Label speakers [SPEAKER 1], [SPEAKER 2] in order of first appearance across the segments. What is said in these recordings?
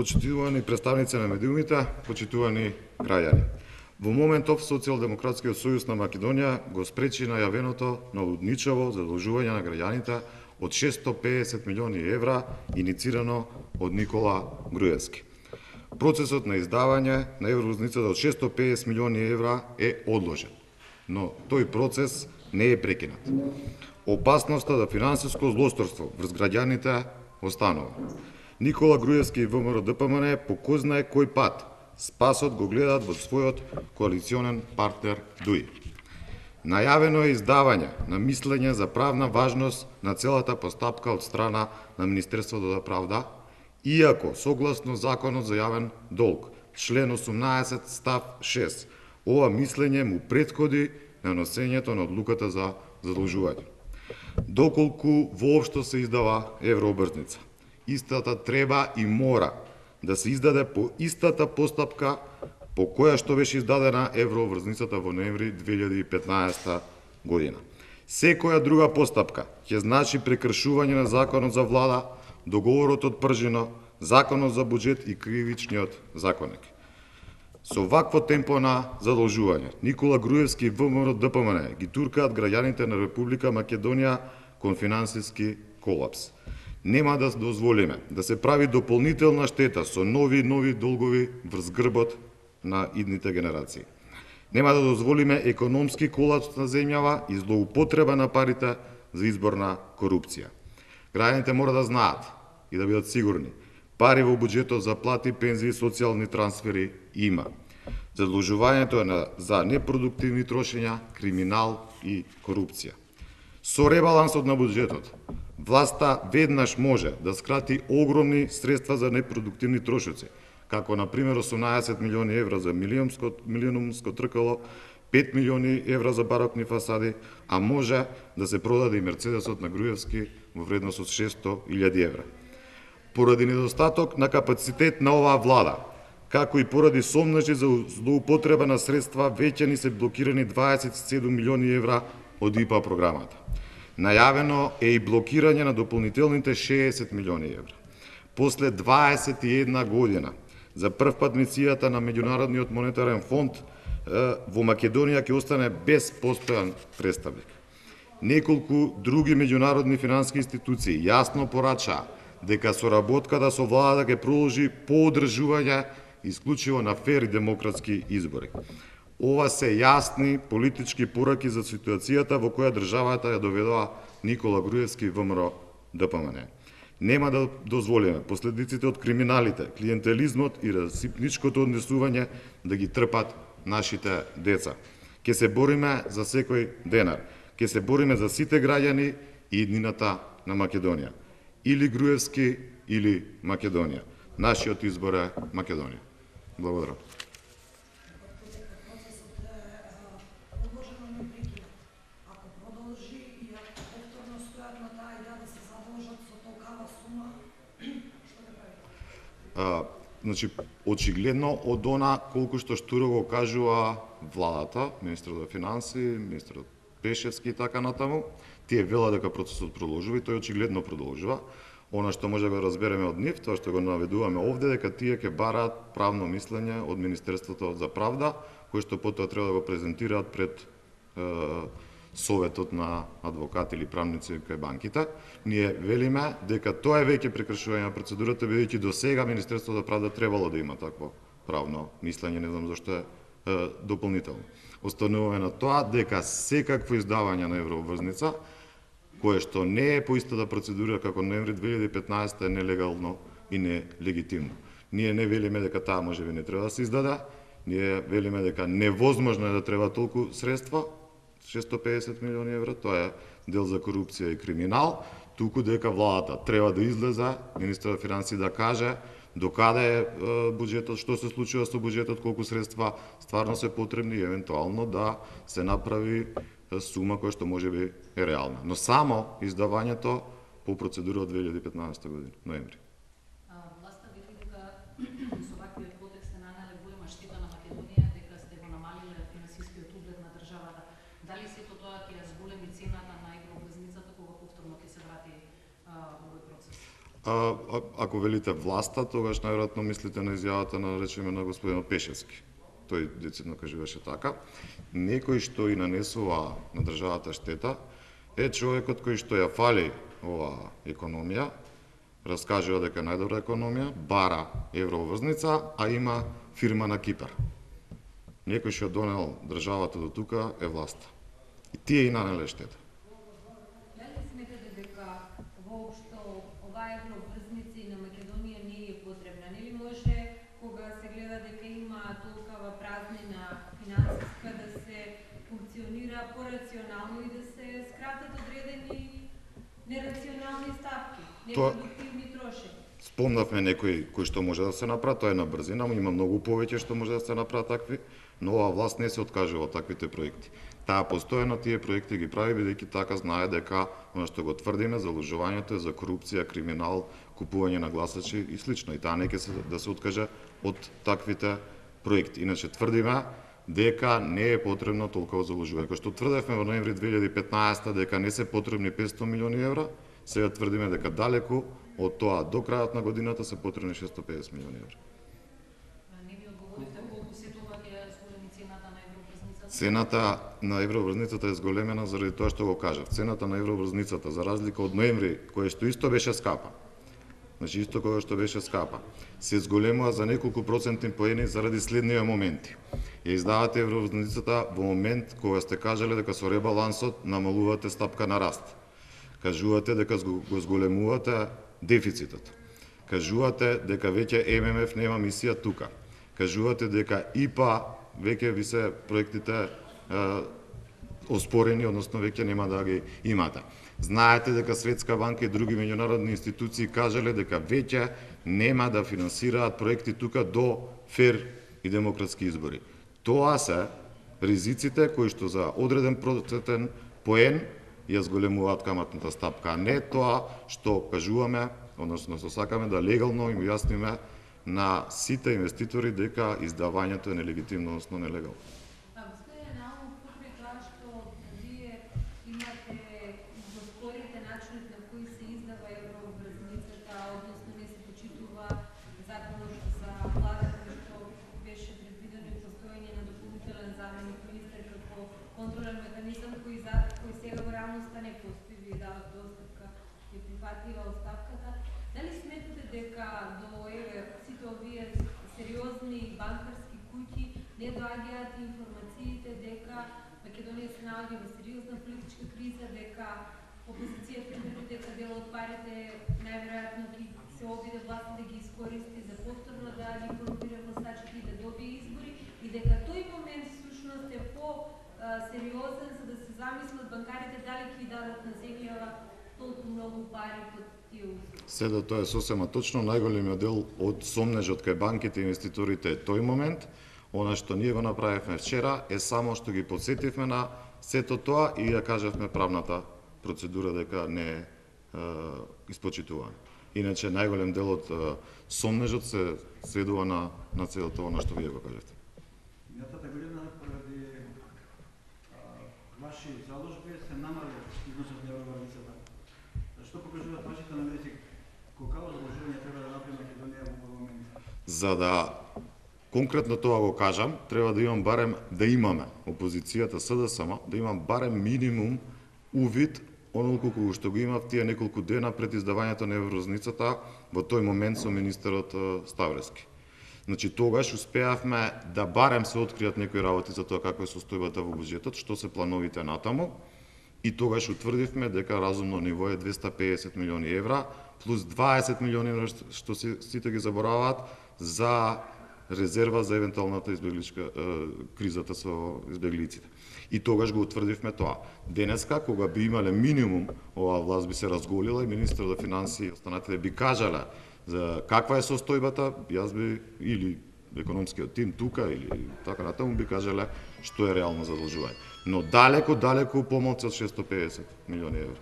[SPEAKER 1] почитувани представници на медиумите, почитувани граѓани. Во моментов Социјалдемократскиот сојуз на Македонија го спречи најавеното налудничаво задолжување на граѓаните од 650 милиони евра иницирано од Никола Груевски. Процесот на издавање на евровозницата од 650 милиони евра е одложен, но тој процес не е прекинат. Опасноста за финансиско злосторство врз граѓаните останува. Никола Груевски и ВМРО-ДПМН по кој знае кој пат спасот го гледаат во својот коалиционен партнер ДУИ. Најавено е издавање на мислење за правна важност на целата постапка од страна на Министерството за правда, иако согласно Законот за јавен долг, член 18 став 6, ова мислење му претходи на носењето на одлуката за задолжување. Доколку воопшто се издава еврообрзница, истата треба и мора да се издаде по истата постапка по која што беше издадена еврообрзницата во ноември 2015 година. Секоја друга постапка ќе значи прекршување на Законот за влада, договорот од Пржино, Законот за буџет и Кривичниот законник. Со вакво темпо на задолжување, Никола Груевски и ВМРО-ДПМН ги туркаат граѓаните на Република Македонија кон финансиски колапс. Нема да дозволиме да се прави дополнителна штета со нови долгови врз грбот на идните генерации. Нема да дозволиме економски колапс на земјава и злоупотреба на парите за изборна корупција. Граѓаните мора да знаат и да бидат сигурни, пари во буџетот за плати, пензии и социјални трансфери има. Задолжувањето е за непродуктивни трошења, криминал и корупција. Со ребалансот на буџетот, власта веднаш може да скрати огромни средства за непродуктивни трошоци, како на пример 18 милиони евра за милиумско тркало, 5 милиони евра за барокни фасади, а може да се продаде и Мерцедесот на Груевски во вредност од 600.000 евра. Поради недостаток на капацитет на оваа влада, како и поради сомнежи за злоупотреба на средства, веќе ни се блокирани 27 милиони евра од ИПА програмата. Најавено е и блокирање на дополнителните 60 милиони евра. После 21 година, за прв пат мисијата на Меѓународниот монетарен фонд во Македонија ќе остане без постојан представник. Неколку други меѓународни финансиски институции јасно порачаа дека соработката со владата ќе продолжи по одржување исклучиво на фер и демократски избори. Ова се јасни политички пораки за ситуацијата во која државата ја доведува Никола Груевски и ВМРО-ДПМН. Нема да дозволиме последиците од криминалите, клиентелизмот и расипничкото однесување да ги трпат нашите деца. Ке се бориме за секој денар. Ке се бориме за сите граѓани и иднината на Македонија. Или Груевски, или Македонија. Нашиот избор е Македонија. Благодарам. Значи, очигледно од она колку што штуро го кажува владата, министерот за финансии, министерот Пешевски и така натаму, тие велат дека процесот продолжува и тој очигледно продолжува. Она што може да го разбереме од нив, тоа што го наведуваме овде, дека тие ќе бараат правно мислење од Министерството за правда, кој што потоа треба да го презентираат пред Советот на адвокати или правници кај банките. Ние велиме дека тоа е веќе прекршување на процедурата, бидејќи до сега Министерството за правда требало да има такво правно мислење, не знам зашто е дополнително. Остануваме на тоа дека секакво издавање на еврообврзница, кое што не е по истата процедура како ноември 2015 е нелегално и нелегитимно. Ние не велиме дека таа можеби не треба да се издаде, ние велиме дека невозможно е да треба толку средства, 650 милиони евра, тоа е дел за корупција и криминал, туку дека владата треба да излезе, министерот на финансии да каже докаде е буџетот, што се случува со буџетот, колку средства стварно се потребни и евентуално да се направи сума која што можеби е реална. Но само издавањето по процедура од 2015 година, ноември.
[SPEAKER 2] Власта вели дека со ваквиот потек сте нанеле голема штета на Македонија, дека сте го намалиле финансискиот углед на државата. Дали сето тоа ќе ја зголеми цената на еврообврзницата кога повторно ќе се врати овој процес?
[SPEAKER 1] ако велите власта, тогаш најверојатно мислите на изјавата на речеме на господинот Пешевски. Тој децидно кажуваше така. Некој што и нанесува на државата штета е човекот кој што ја фали оваа економија, раскажува дека е најдобра економија, бара евроврзница, а има фирма на Кипар. Некој што донел државата до тука е власта. И тие и нанеле штета.
[SPEAKER 3] Дали сметате дека воопшто оваа евроврзница и на Македонија не е потребна? Нели може кога се гледа дека има толкова празнина финансиска да се функционира порационално и да се скратат одредени нерационални ставки, непродуктивни трошења?
[SPEAKER 1] Спомнавме некои кои што може да се направи, тоа е на брзина, има многу повеќе што може да се направи такви, но оваа власт не се откажува од таквите проекти. Таа постојано тие проекти ги прави бидејќи така знае дека она што го тврдиме залужувањето е за корупција, криминал, купување на гласачи и слично. И таа не ќе се да се откаже од таквите проекти. Иначе тврдиме дека не е потребно толкова залужување. Кој што тврдевме во ноември 2015 дека не се потребни 500 милиони евра, сега тврдиме дека далеку од тоа до крајот на годината се потребни 650 милиони евра.
[SPEAKER 2] Не ми одговорите колку се тоа ќе зголеми цената на евроврзницата?
[SPEAKER 1] Цената на евроврзницата е зголемена заради тоа што го кажав. Цената на евроврзницата, за разлика од ноември, кој што исто беше скапа, значи исто кога што беше скапа, се зголемува за неколку процентни поени заради следниве моменти. Ја издавате евроврзницата во момент кога сте кажале дека со ребалансот намалувате стапка на раст. Кажувате дека го зголемувате дефицитот. Кажувате дека веќе ММФ нема мисија тука. Кажувате дека ИПА веќе ви се проектите оспорени, односно веќе нема да ги имате. Знаете дека Светска банка и други меѓународни институции кажале дека веќе нема да финансираат проекти тука до фер и демократски избори. Тоа се ризиците кои што за одреден процентен поен ја зголемуваат каматната стапка, а не тоа што кажуваме, односно што сакаме да легално им јасниме на сите инвеститори дека издавањето е нелегитимно, односно нелегално.
[SPEAKER 3] Господин Наумов, покрај тоа што вие имате го спорите начинот на кој се издава евроврзницата, односно не се почитува законот за владата што беше предвидено и постоење на дополнителен заменик министер како контролен механизам кој сега во реалноста не постои, вие давате оставка и прифатлива оставката. Дали сметате дека до сите овие сериозни банкарски куќи не доаѓаат информациите дека Македонија се наоѓа во сериозна политичка криза, дека опозицијата тврди дека дел од парите најверојатно ќе се обиде власта да ги искористи за повторно да ги корумпира гласачите и да добие избори и дека тој момент всушност е по-сериозен за да се замислат банкарите дали ќе дадат на земјава толку многу пари под тие услови.
[SPEAKER 1] Седа тоа е сосема точно, најголемиот дел од сомнежот кај банките и инвеститорите е тој момент. Она што ние го направивме вчера е само што ги подсетивме на сето тоа и ја кажавме правната процедура дека не е испочитувана. Иначе најголем дел од сомнежот се сведува на целото она што вие го кажете.
[SPEAKER 4] Минатата година поради ваши заложби се намали износот на евроврзницата. Што покажуваат вашите анализи? Колку заложување треба да направи Македонија во овој момент?
[SPEAKER 1] За да конкретно тоа го кажам, треба да имам барем да имаме опозицијата СДСМ, да имам барем минимум увид онолку колку што го имав тие неколку дена пред издавањето на евроврзницата во тој момент со министерот Ставрески. Значи тогаш успеавме да барем се откријат некои работи за тоа како е состојбата во буџетот, што се плановите натаму, и тогаш утврдивме дека разумно ниво е 250 милиони евра плюс 20 милиони евра што сите ги забораваат за резерва за евентуалната избегличка кризата со избеглиците. И тогаш го утврдивме тоа. Денеска, кога би имале минимум, оваа власт би се разголила и министерот за финансии и останатите би кажале за каква е состојбата, јас би или економскиот тим тука или така натаму би кажале што е реално задолжување. Но далеку помалку од 650 милиони евра.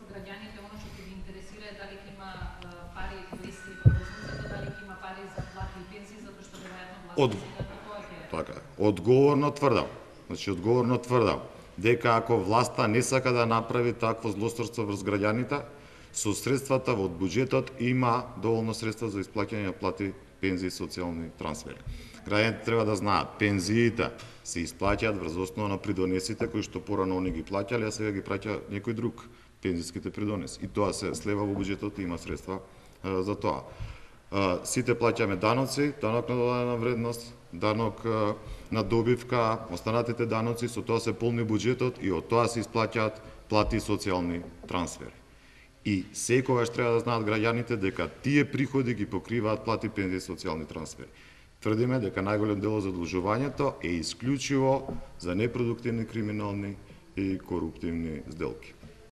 [SPEAKER 2] Граѓаните, оно што ги интересира е дали ќе има пари без евроврзницата, дали ќе има пари за плати и пензии, затоа што веројатно властта тоа ќе...
[SPEAKER 1] Така е. Одговорно тврдам дека ако власта не сака да направи такво злосторство врз граѓаните, Со средствата од буџетот има доволно средства за исплаќање на плати, пензии и социјални трансфери. Граѓаните треба да знаат, пензиите се исплаќаат врз основа на придонесите кои што порано они ги плаќале, а сега ги праќа некој друг пензиските придонеси. И тоа се слева во буџетот и има средства за тоа. Сите плаќаме даноци, данок на додадена вредност, данок на добивка, останатите даноци, со тоа се полни буџетот и од тоа се исплаќаат плати и социјални трансфери. И секогаш треба да знаат граѓаните дека тие приходи ги покриваат плати, пензии и социјални трансфери. Тврдиме дека најголем дел од задолжувањето е исклучиво за непродуктивни, криминални и коруптивни сделки.